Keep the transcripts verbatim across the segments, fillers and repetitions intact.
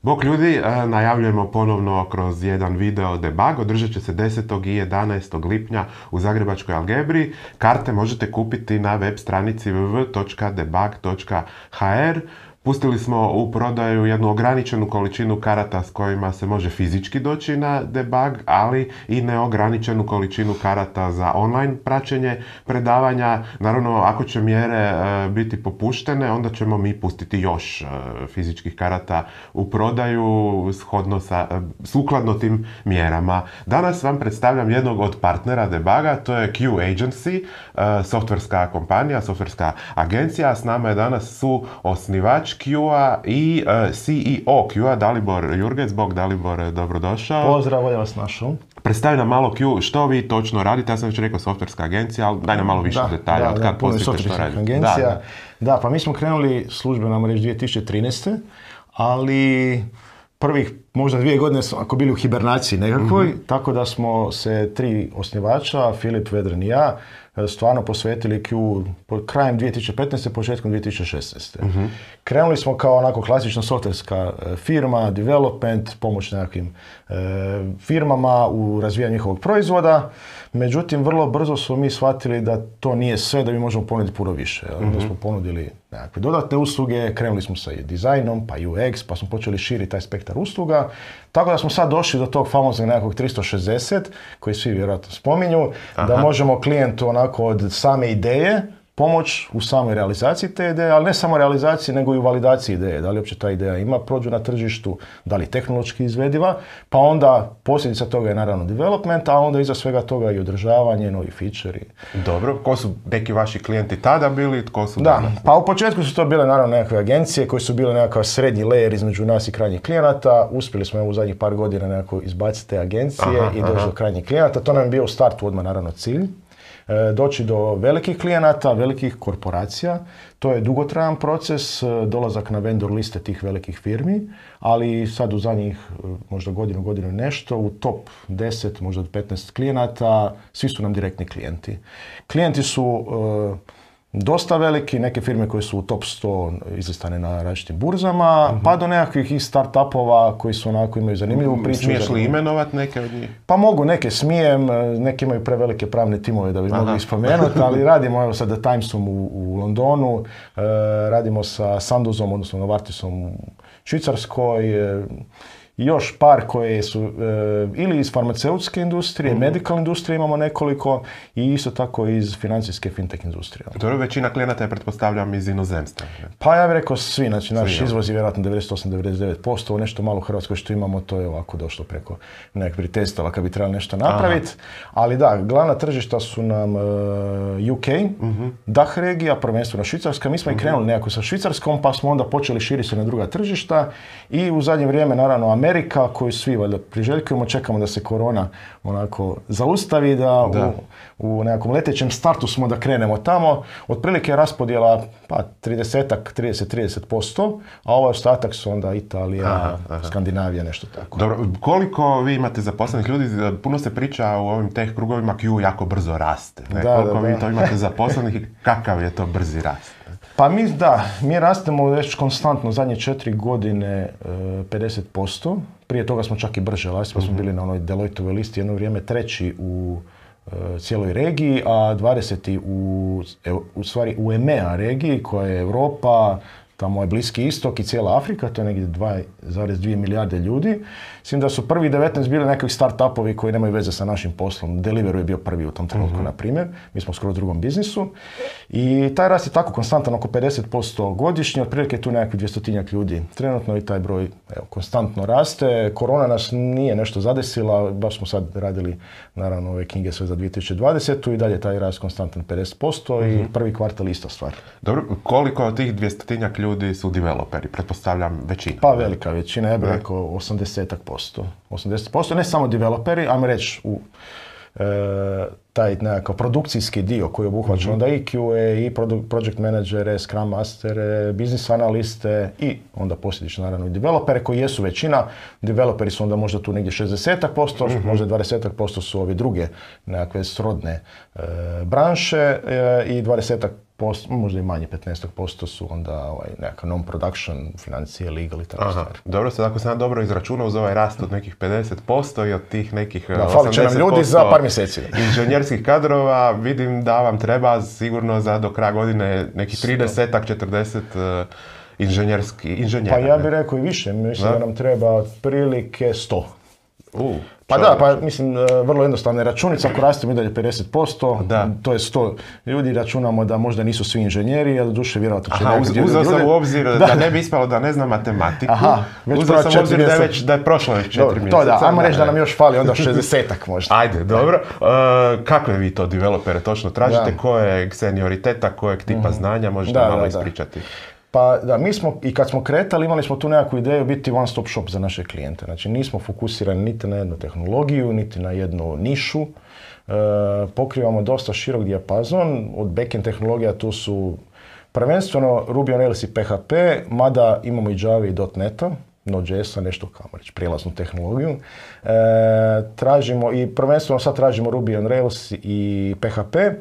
Bok ljudi, najavljujemo ponovno kroz jedan video debug. Održat će se desetog i jedanaestog lipnja u Zagrebačkoj Algebri. Karte možete kupiti na web stranici w w w točka debug točka h r. Pustili smo u prodaju jednu ograničenu količinu karata s kojima se može fizički doći na debug, ali i neograničenu količinu karata za online praćenje predavanja. Naravno, ako će mjere e, biti popuštene, onda ćemo mi pustiti još e, fizičkih karata u prodaju shodno sa, e, sukladno tim mjerama. Danas vam predstavljam jednog od partnera debuga, to je Q Agency, e, softverska kompanija, softverska agencija. S nama je danas su osnivač Q-a i uh, C E O Q-a, Dalibor Jurgec. Bog, Dalibor, dobrodošao. Pozdrav, ja vas našao. Predstavi nam malo Q, što vi točno radite. Ja sam već rekao softverska agencija, ali daj nam malo više da, detalja. Da, od da, kad poslite što radite. Agencija. Da, da. da, pa mi smo krenuli službeno reći dvije tisuće trinaeste. ali prvih možda dvije godine smo ako bili u hibernaciji nekakvoj, mm-hmm. tako da smo se tri osnivača, Filip, Vedran i ja, stvarno posvetili Q krajem dvije tisuće petnaeste. početkom dvije tisuće šesnaeste. Mm-hmm. Krenuli smo kao onako klasična softverska firma, development, pomoć nekakvim e, firmama u razvijanju njihovog proizvoda. Međutim, vrlo brzo smo mi shvatili da to nije sve, da mi možemo ponuditi puno više. Mm-hmm. Onda smo ponudili nekakve dodatne usluge, krenuli smo sa dizajnom, pa U X, pa smo počeli širiti taj spektar usluga. Tako da smo sad došli do tog famoznog nekakvog tristo šezdeset, koji svi vjerojatno spominju, Aha. da možemo klijentu onako od same ideje pomoć u samoj realizaciji te ideje, ali ne samo realizaciji, nego i u validaciji ideje. Da li uopće ta ideja ima prođu na tržištu, da li tehnološki izvediva, pa onda posljedica toga je naravno development, a onda iza svega toga i održavanje, novi feature. Dobro, ko su neki vaši klijenti tada bili, tko su da, danas? Pa u početku su to bile naravno nekakve agencije koje su bile nekakav srednji layer između nas i krajnjih klijenata. Uspjeli smo u zadnjih par godina nekako izbaciti te agencije aha, i doći aha. do krajnjih klijenata. To nam je bio u startu odmah naravno cilj. Doći do velikih klijenata, velikih korporacija. To je dugotrajan proces, dolazak na vendor liste tih velikih firmi, ali sad u zadnjih možda godinu, godinu nešto, u top deset, možda petnaest klijenata, svi su nam direktni klijenti. Klijenti su uh, dosta veliki, neke firme koje su u top sto izlistane na različitim burzama, uh-huh. pa do nekakvih i start-upova koji su onako imaju zanimljivu priču. Smiješ li imenovat neke od njih? Pa mogu, neke smijem, neke imaju prevelike pravne timove da bi Aha. mogli spomenuti, ali radimo evo sa The Timesom u, u Londonu, eh, radimo sa Sandozom, odnosno Novartisom u Švicarskoj, eh, još par koje su e, ili iz farmaceutske industrije, mm-hmm. medical industrije imamo nekoliko i isto tako iz financijske fintech industrije. Dobro, većina klijenata je, pretpostavljam, iz inozemstva. Ne? Pa ja bih rekao svi, znači naš svi, izvoz je vjerojatno devedeset osam do devedeset devet posto, nešto malo u Hrvatskoj što imamo, to je ovako došlo preko nekakvih testova kad bi trebali nešto napraviti. Ali da, glavna tržišta su nam uh, U K, mm-hmm. D A H regija, prvenstveno Švicarska. Mi smo mm-hmm. i krenuli nekako sa Švicarskom, pa smo onda počeli širiti se na druga tržišta i u zadnje vrijeme naravno Amerika, Amerika koju svi valjda priželjkujemo, čekamo da se korona onako zaustavi, da, da. U, u nekakvom letećem startu smo da krenemo tamo. Otprilike je raspodjela pa trideset, trideset, trideset posto, a ovaj ostatak su onda Italija, aha, aha. Skandinavija, nešto tako. Dobro, koliko vi imate zaposlenih ljudi? Puno se priča u ovim teh krugovima, Q jako brzo raste. Ne? Da, koliko da, vi da. to imate zaposlenih i kakav je to brzi rast? Pa mi, da, mi rastemo već konstantno zadnje četiri godine pedeset posto. Prije toga smo čak i brže rasli, pa smo bili na onoj Deloittovoj listi jedno vrijeme treći u uh, cijeloj regiji, a dvadeseti u, u stvari u E M E A regiji koja je Europa, tamo je Bliski istok i cijela Afrika, to je negdje dva zarez dvije milijarde ljudi. Mislim da su prvi devetnaest bili nekakvi start-upovi koji nemaju veze sa našim poslom. Deliveroo je bio prvi u tom trenutku, uh-huh. na primjer. Mi smo skoro u drugom biznisu. I taj rast je tako konstantan, oko pedeset posto godišnje, otprilike tu nekakvi dvjestotinjak ljudi trenutno i taj broj evo, konstantno raste. Korona nas nije nešto zadesila, baš smo sad radili naravno ove knjige sve za dvije tisuće dvadesetu i dalje taj rast konstantan pedeset posto uh-huh. i prvi kvartal ista stvar. Dobro, koliko od tih dvjestotinjak ljudi su developeri? Pretpostavljam većina. Pa velika većina, ja bih rekao osamdeset posto. osamdeset posto, ne samo developeri, ajmo reći u taj nekakav produkcijski dio koji obuhvaća mm-hmm. onda i Q A, i project managere, scrum mastere, business analiste i onda posljedično naravno i developere koji jesu većina. Developeri su onda možda tu negdje šezdeset posto, mm-hmm. možda dvadeset posto su ovi druge nekakve srodne e, branše e, i dvadeset posto, možda i manje, petnaest posto su onda ovaj, nekakav non-production, financije, legal i tako stvari. Dobro, sad ako sam dobro izračunao uz ovaj rast od nekih pedeset posto i od tih nekih da, fali će nam ljudi za par mjeseci. Inženjerskih kadrova, vidim da vam treba sigurno za do kraja godine nekih trideset četrdeset uh, inženjerski, inženjera. Pa ja bih rekao i više, mislim da, da nam treba otprilike sto. Uh, pa da, pa mislim, vrlo jednostavna računica, ako rastemo i dalje pedeset posto, da. To je sto ljudi, računamo da možda nisu svi inženjeri, a doduše vjerojatno će nekad ljudi... Uzeo sam u obzir da, da ne bi ispalo da ne znam matematiku, Aha, uzeo sam u obzir da je, već, da je prošlo već četiri mjeseca. To da, ajmo reći da nam još fali onda šezdesetak možda. Ajde, dobro. Uh, kakve vi to developere točno tražite, da. Kojeg senioriteta, kojeg tipa mm-hmm. znanja, možete da, malo da, ispričati? Pa da, mi smo, i kad smo kretali, imali smo tu nekakvu ideju biti one stop shop za naše klijente. Znači nismo fokusirani niti na jednu tehnologiju, niti na jednu nišu. E, pokrivamo dosta širok dijapazon. Od backend tehnologija tu su prvenstveno Ruby on Rails i P H P, mada imamo i Java i .NET-a, Node.js-a, nešto kao reći, prijelaznu tehnologiju. E, tražimo i prvenstveno sad tražimo Ruby on Rails i P H P.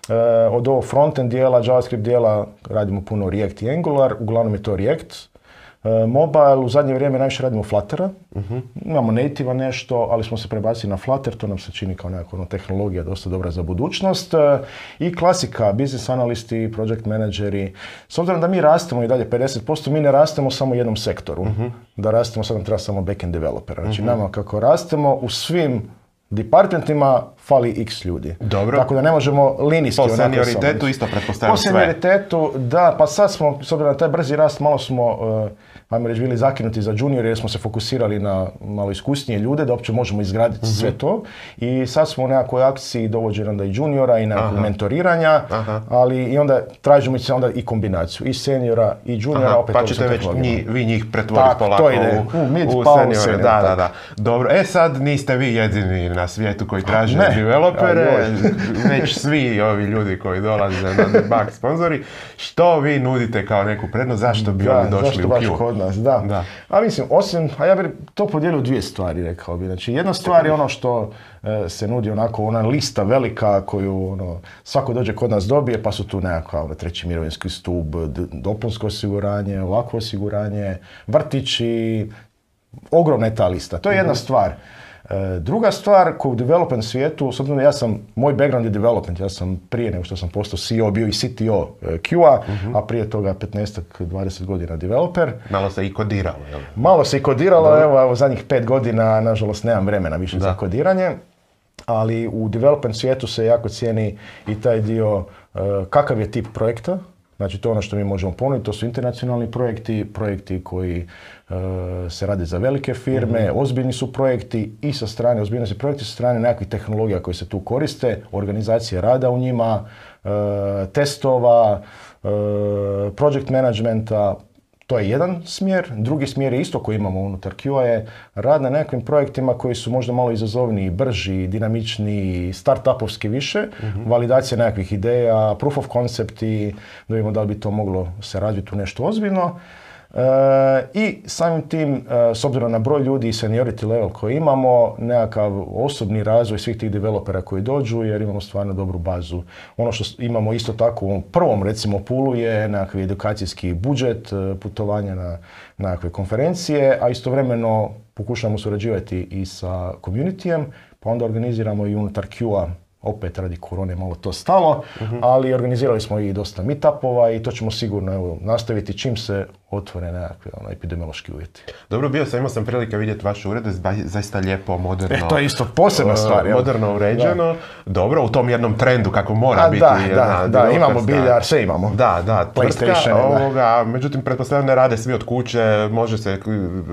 Uh, od ovog frontend dijela, JavaScript dijela radimo puno React i Angular, uglavnom je to React. Uh, mobile, u zadnje vrijeme najviše radimo Fluttera. Uh-huh. Imamo native nešto, ali smo se prebacili na Flutter, to nam se čini kao nekakva tehnologija dosta dobra za budućnost. Uh, I klasika, business analisti, project menadžeri. S obzirom da mi rastemo i dalje pedeset posto, mi ne rastemo samo u jednom sektoru. Uh-huh. Da rastemo, sad nam treba samo backend developera. Znači uh-huh. nama kako rastemo u svim departmentima fali x ljudi. Dobro. Tako da ne možemo linijski... Po senioritetu isto pretpostavljam sve. Po senioritetu, da, pa sad smo, s obzirom na taj brzi rast, malo smo, uh, ajmo reći, bili zakinuti za junior jer smo se fokusirali na malo iskusnije ljude, da uopće možemo izgraditi uh-huh. sve to. I sad smo u nekakvoj akciji dovođenja onda i juniora i nekakvog mentoriranja, Aha. ali i onda tražimo se onda i kombinaciju i seniora i juniora. Aha, opet pa ćete već nji, vi njih pretvoriti polako to ide. u, u, mid, u seniora. Senior, da, da, da. Dobro, e sad niste vi jedini na svijetu koji traže ne. developere, već svi ovi ljudi koji dolaze na debug sponzori. Što vi nudite kao neku prednost, zašto bi da, oni došli u Q? Kod nas, da. da. A mislim, osim, a ja bih to podijelio dvije stvari, rekao bih. Znači, jedna stvar je ono što e, se nudi onako, ona lista velika koju ono, svako dođe kod nas dobije, pa su tu nekakva ono, treći mirovinski stup, dopunsko osiguranje, ovakvo osiguranje, vrtići, ogromna je ta lista. To je jedna stvar. E, druga stvar, koju u development svijetu, s obzirom da ja sam, moj background je development, ja sam prije nego što sam postao C E O bio i C T O Q-a, uh-huh. a prije toga petnaest do dvadeset godina developer. Malo se i kodiralo, jel? Malo se i kodiralo, da. evo, evo zadnjih pet godina, nažalost, nemam vremena više da. za kodiranje, ali u development svijetu se jako cijeni i taj dio uh, kakav je tip projekta. Znači to je ono što mi možemo ponuditi, to su internacionalni projekti, projekti koji uh, se rade za velike firme, mm-hmm. ozbiljni su projekti i sa strane, ozbiljni su projekti sa strane nekakvih tehnologija koje se tu koriste, organizacije rada u njima, uh, testova, uh, project managementa. To je jedan smjer. Drugi smjer je isto koji imamo unutar Q-a je rad na nekakvim projektima koji su možda malo izazovniji, brži, dinamičniji, start-upovski više, mm-hmm. validacija nekakvih ideja, proof of concept i da vidimo da li bi to moglo se razviti u nešto ozbiljno. E, I samim tim, e, s obzirom na broj ljudi i seniority level koji imamo, nekakav osobni razvoj svih tih developera koji dođu jer imamo stvarno dobru bazu. Ono što imamo isto tako u prvom recimo poolu je nekakvi edukacijski budžet, putovanja na nekakve konferencije, a istovremeno pokušamo surađivati i sa communityjem, pa onda organiziramo i unutar Q-a. Opet radi korone malo to stalo, uh-huh. ali organizirali smo i dosta meetupova i to ćemo sigurno evo, nastaviti čim se otvore nekakve ono, epidemiološki uvjeti. Dobro, bio sam, imao sam prilike vidjeti vaše urede, zaista lijepo, moderno. E, to je isto posebna stvar. Moderno uređeno, da. Dobro, u tom jednom trendu kako mora A, biti. Da, jedna, da, da, imamo biljar, sve imamo. Da, da, tvrtka, ovoga, međutim, pretpostavljam ne rade svi od kuće, može se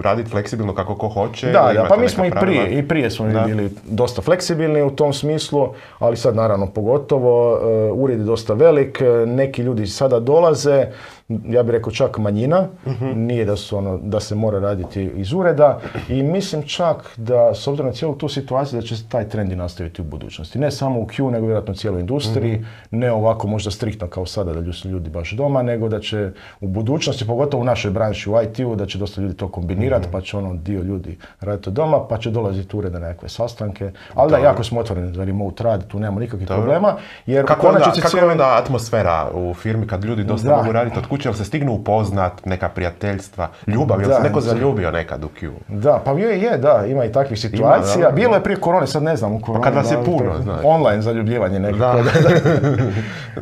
raditi fleksibilno kako ko hoće. Da, da, pa mi smo i prije, i prije smo da. bili dosta fleksibilni u tom smislu, ali sad naravno pogotovo, uh, ured je dosta velik, neki ljudi sada dolaze, ja bih rekao čak manjina, ureda, uh-huh. nije da, su ono, da se mora raditi iz ureda i mislim čak da s obzirom na cijelu tu situaciju da će se taj trend i nastaviti u budućnosti. Ne samo u Q, nego vjerojatno u cijeloj industriji, uh-huh. ne ovako možda striktno kao sada da su ljudi baš doma, nego da će u budućnosti, pogotovo u našoj branši u I T-u, da će dosta ljudi to kombinirati, uh-huh. pa će ono dio ljudi raditi od doma, pa će dolaziti u urede na nekakve sastanke, ali da, jako smo otvoreni za remote rad, tu nemamo nikakvih Dobro. problema. Jer kako onda, kako cijeli... onda atmosfera u firmi kad ljudi dosta da. mogu raditi od kuće, jel se stignu upoznat, neka prijateljstva, ljubav, jel da, se neko da. zaljubio nekad u Q? Da, pa je, je, da, ima i takvih situacija. Ima, da, bilo je prije korone, sad ne znam u koroni. Pa kad vas je puno, znaš. Online zaljubljivanje nekako. Da.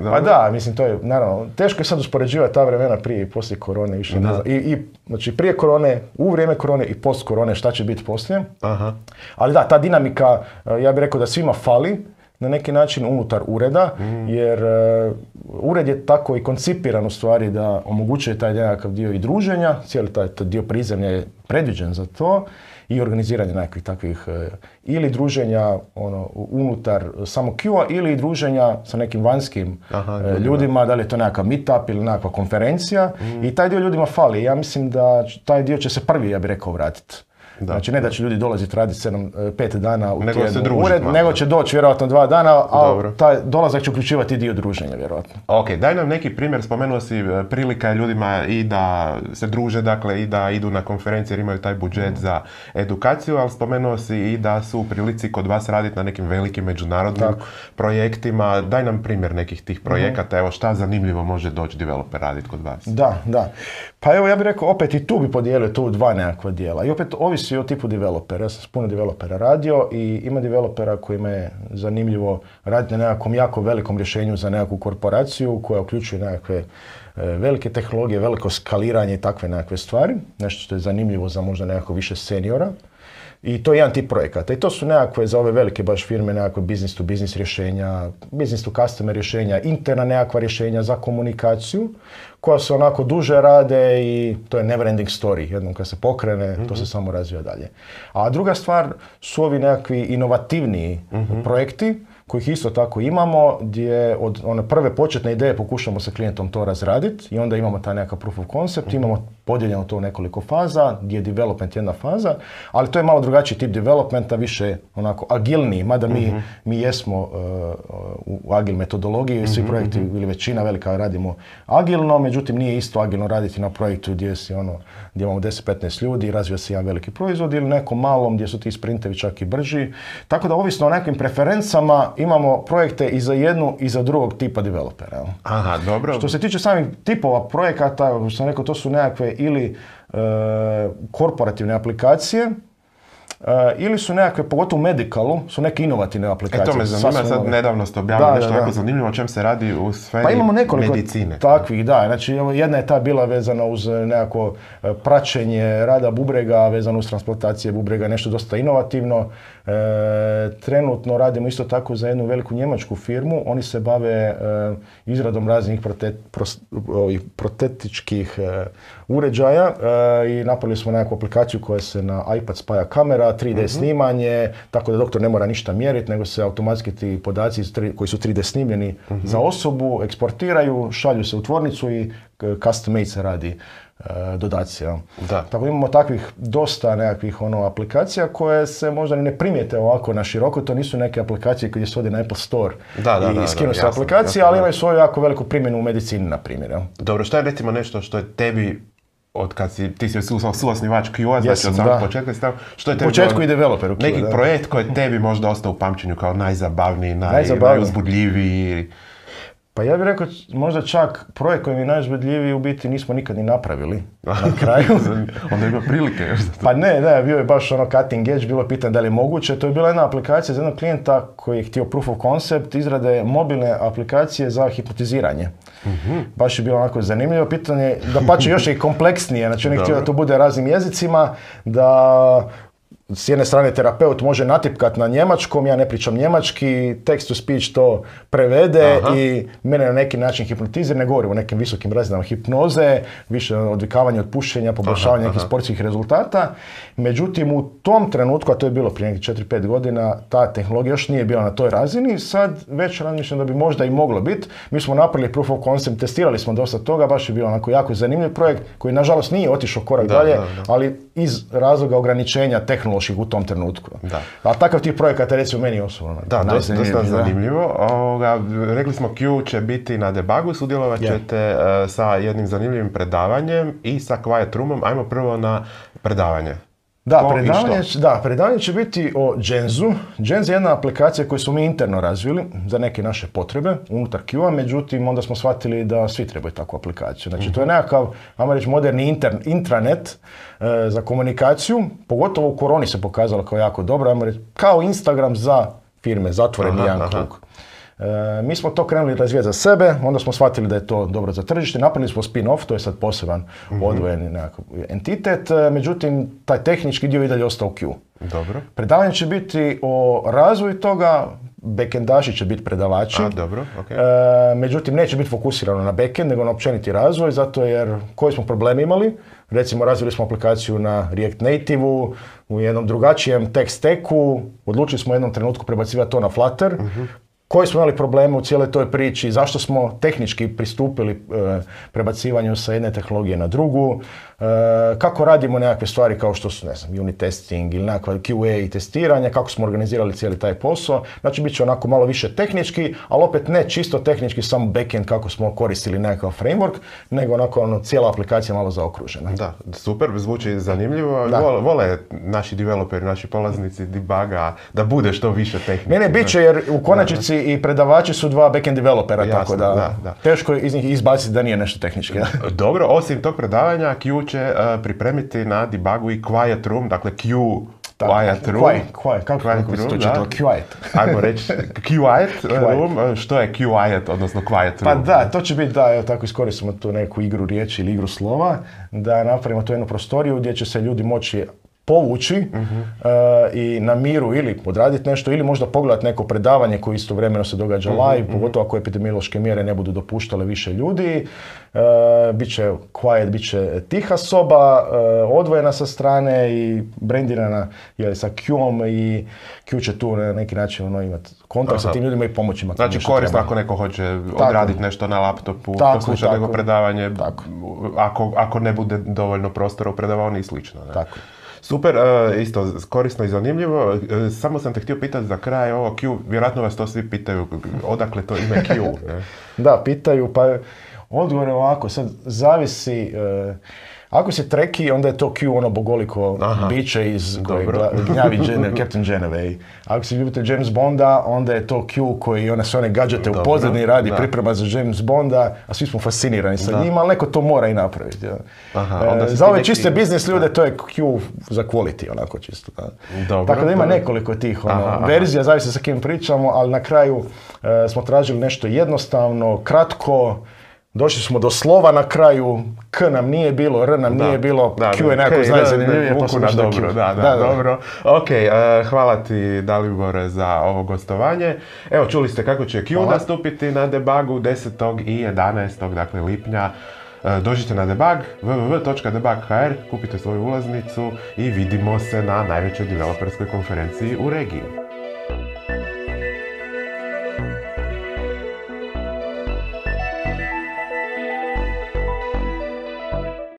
da. Pa da, mislim, to je, naravno, teško je sad uspoređivati ta vremena prije i poslije korone. Više, ne znam. I, i, znači, prije korone, u vrijeme korone i post korone, šta će biti poslije. Aha. Ali da, ta dinamika, ja bih rekao da svima fali, na neki način unutar ureda, mm. jer uh, ured je tako i koncipiran u stvari da omogućuje taj nekakav dio i druženja, cijeli taj, taj dio prizemlja je predviđen za to i organiziranje nekakvih takvih uh, ili druženja ono, unutar samo Q-a ili druženja sa nekim vanjskim Aha, uh, ljudima, da li je to nekakav meetup ili nekakva konferencija mm. i taj dio ljudima fali. Ja mislim da taj dio će se prvi, ja bih rekao, vratiti. Da. Znači ne da će ljudi dolaziti raditi sedam, pet dana u tjednu ured, nego će doći vjerojatno dva dana, a taj dolazak će uključivati dio druženja vjerojatno. Ok, daj nam neki primjer, spomenuo si prilika je ljudima i da se druže, dakle i da idu na konferencije jer imaju taj budžet mm. za edukaciju, ali spomenuo si i da su u prilici kod vas raditi na nekim velikim međunarodnim Tako. projektima. Daj nam primjer nekih tih projekata, mm. evo šta zanimljivo može doći developer raditi kod vas. Da, da. Pa evo ja bih rekao, opet i tu bi podijelio tu dva nekakva dijela i opet ovisi o tipu developera. Ja sam s puno developera radio i ima developera kojima je zanimljivo raditi na nekakvom jako velikom rješenju za nekakvu korporaciju koja uključuje nekakve e, velike tehnologije, veliko skaliranje i takve nekakve stvari. Nešto što je zanimljivo za možda nekako više seniora. I to je jedan tip projekata. I to su nekakve za ove velike baš firme, nekakve business to business rješenja, business to customer rješenja, interna nekakva rješenja za komunikaciju, koja se onako duže rade i to je never ending story. Jednom kad se pokrene, mm-hmm. to se samo razvija dalje. A druga stvar su ovi nekakvi inovativniji mm-hmm. projekti, kojih isto tako imamo, gdje od one prve početne ideje pokušamo sa klijentom to razraditi i onda imamo taj nekakav proof of concept, mm-hmm. imamo podijeljeno to u nekoliko faza, gdje je development jedna faza, ali to je malo drugačiji tip developmenta, više onako agilniji, mada mi, mm-hmm. mi jesmo uh, u agil metodologiji, svi mm-hmm. projekti ili većina velika radimo agilno, međutim nije isto agilno raditi na projektu gdje si ono, gdje imamo deset do petnaest ljudi i razvija se jedan veliki proizvod ili nekom malom gdje su ti sprintevi čak i brži. Tako da ovisno o nekim preferencama imamo projekte i za jednu i za drugog tipa developera. Aha, dobro. Što se tiče samih tipova projekata, što sam rekao, to su nekakve ili e, korporativne aplikacije, Uh, ili su nekakve, pogotovo u medicalu, su neke inovativne aplikacije. E to me zanima, sad nove. Nedavno ste objavili da, nešto da, da. jako zanimljivo, o čem se radi u sferi pa imamo nekoliko medicine. Takvih, da. Znači, jedna je ta bila vezana uz nekako praćenje rada bubrega, vezano uz transplantacije bubrega, nešto dosta inovativno. E, trenutno radimo isto tako za jednu veliku njemačku firmu, oni se bave e, izradom raznih prote, pros, ovih protetičkih e, uređaja e, i napravili smo nekakvu aplikaciju koja se na iPad spaja kamera, tri D mm-hmm. snimanje, tako da doktor ne mora ništa mjeriti, nego se automatski ti podaci koji su tri D snimljeni mm-hmm. za osobu eksportiraju, šalju se u tvornicu i custom made se radi e, dodaci. Ja. Da. Tako imamo takvih dosta nekakvih ono, aplikacija koje se možda ne primijete ovako na široko, to nisu neke aplikacije koje se vodi na Apple Store da, da, i da, skinu da, se aplikacije, jasno, ali imaju svoju jako veliku primjenu u medicini, na primjer. Ja. Dobro, što je recimo nešto što je tebi od kad si, ti si suosnivač Q A, znači od samog početka si tamo, što je tebi početku bilo, i developeru neki da. projekt koji je tebi možda ostao u pamćenju kao najzabavniji, naj, najuzbudljiviji? Pa ja bih rekao, možda čak projekt koji mi je najuzbudljiviji u biti nismo nikad ni napravili na kraju. Onda ima prilike još za to. Pa ne, ne, bio je baš ono cutting edge, bilo je pitanje da li je moguće. To je bila jedna aplikacija za jednog klijenta koji je htio proof of concept, izrade mobilne aplikacije za hipnotiziranje. Mm-hmm. Baš je bilo onako zanimljivo pitanje, da pače još i kompleksnije, znači on je htio da to bude raznim jezicima, da s jedne strane terapeut može natipkat na njemačkom, ja ne pričam njemački, text to speech to prevede Aha. i mene na neki način hipnotizira, ne govorim o nekim visokim razinama hipnoze, više odvikavanje od pušenja, poboljšavanje nekih sportskih rezultata. Međutim, u tom trenutku, a to je bilo prije nekih četiri pet godina, ta tehnologija još nije bila na toj razini, sad već razmišljam da bi možda i moglo biti. Mi smo napravili proof of concept, testirali smo dosta toga, baš je bio onako jako zanimljiv projekt koji nažalost nije otišao korak da, dalje, da, da. ali iz razloga ograničenja tehnoloških u tom trenutku. Da. A takav tih projekata recimo meni osobno. Da, dosta, dosta zanimljivo. Ovoga, rekli smo Q će biti na debugu, sudjelovat ćete yeah. uh, sa jednim zanimljivim predavanjem i sa Quiet Roomom. Ajmo prvo na predavanje. Da, predavanje, da, predavanje će biti o Genzu. Genz je jedna aplikacija koju smo mi interno razvili za neke naše potrebe unutar Q-a, međutim onda smo shvatili da svi trebaju takvu aplikaciju. Znači mm-hmm. to je nekakav, ajmo reći, moderni inter, intranet e, za komunikaciju, pogotovo u koroni se pokazalo kao jako dobro, ajmo reći, kao Instagram za firme, zatvoreni aha, jedan krug. E, mi smo to krenuli razvijati za sebe, onda smo shvatili da je to dobro za tržište, napravili smo spin-off, to je sad poseban mm-hmm. odvojeni nekakav entitet, e, međutim taj tehnički dio i dalje ostao u Q. Dobro. Predavanje će biti o razvoju toga, backendaši će biti predavači, A, dobro, okay. e, međutim neće biti fokusirano na backend, nego na općeniti razvoj, zato jer koji smo problemi imali, recimo razvili smo aplikaciju na React Native-u, u jednom drugačijem tech stacku, odlučili smo u jednom trenutku prebacivati to na Flutter, mm-hmm. koji smo imali probleme u cijeloj toj priči, zašto smo tehnički pristupili e, prebacivanju sa jedne tehnologije na drugu, e, kako radimo nekakve stvari kao što su, ne znam, unit testing ili nekakva Q A i testiranje, kako smo organizirali cijeli taj posao. Znači, bit će onako malo više tehnički, ali opet ne čisto tehnički, samo backend kako smo koristili nekakav framework, nego onako ono, cijela aplikacija malo zaokružena. Da, super, zvuči zanimljivo. Vole, vole naši developeri, naši polaznici debuga da bude što više tehnike. Ne, ne, bit će jer u konačnici i predavači su dva backend developera, jasno, tako da, da, da teško je iz njih izbaciti da nije nešto tehnički. Da. Dobro, osim tog predavanja Q će uh, pripremiti na debugu i Quiet Room, dakle Q tako, Quiet Room. Quiet, quiet, kako quiet room, to čitao? Quiet. Ajmo reći Quiet Room, što je Quiet, odnosno Quiet Room? Pa da, to će biti, da, evo tako iskoristimo tu neku igru riječi ili igru slova, da napravimo tu jednu prostoriju gdje će se ljudi moći povući uh-huh. uh, i na miru ili odraditi nešto ili možda pogledati neko predavanje koje istovremeno se događa uh-huh. live, pogotovo ako epidemiološke mjere ne budu dopuštale više ljudi. Uh, biće quiet, biće tiha soba, uh, odvojena sa strane i brendirana jeli, sa Q-om i Q će tu na neki način ono, imati kontakt Aha. sa tim ljudima i pomoći ima. Znači korisno ako neko hoće odraditi nešto na laptopu, poslušati neko predavanje, ako, ako ne bude dovoljno prostora u predavanju i slično. Ne? Tako. Super, uh, isto korisno i zanimljivo. Uh, samo sam te htio pitati za kraj ovo Q, vjerojatno vas to svi pitaju, odakle to ime Q? Ne? Da, pitaju, pa odgovor je ovako, sad zavisi, uh, ako si treki, onda je to Q ono bogoliko Aha. biće iz kojeg gnjavi Gen, Captain Geneve. Ako si ljubitelj James Bonda, onda je to Q koji one sve one gadžete u pozadini radi, da. priprema za James Bonda, a svi smo fascinirani sa da. njim, ali neko to mora i napraviti. Ja. Aha, e, za ove neki... čiste biznis ljude da. to je Q za quality, onako čisto. Da. Dobro, tako da ima dobro. nekoliko tih ono, aha, verzija, aha. zavisi sa kim pričamo, ali na kraju e, smo tražili nešto jednostavno, kratko. Došli smo do slova na kraju, K nam nije bilo, R nam da, nije bilo, da, Q je nekako najzanimljivije, pa smo došli do Q. Da, da, da, dobro. Ok, uh, hvala ti Dalibore za ovo gostovanje. Evo, čuli ste kako će Q hvala. nastupiti na debugu desetog i jedanaestog dakle lipnja. Uh, dođite na debug, w w w točka debug točka h r, kupite svoju ulaznicu i vidimo se na najvećoj developerskoj konferenciji u regiji.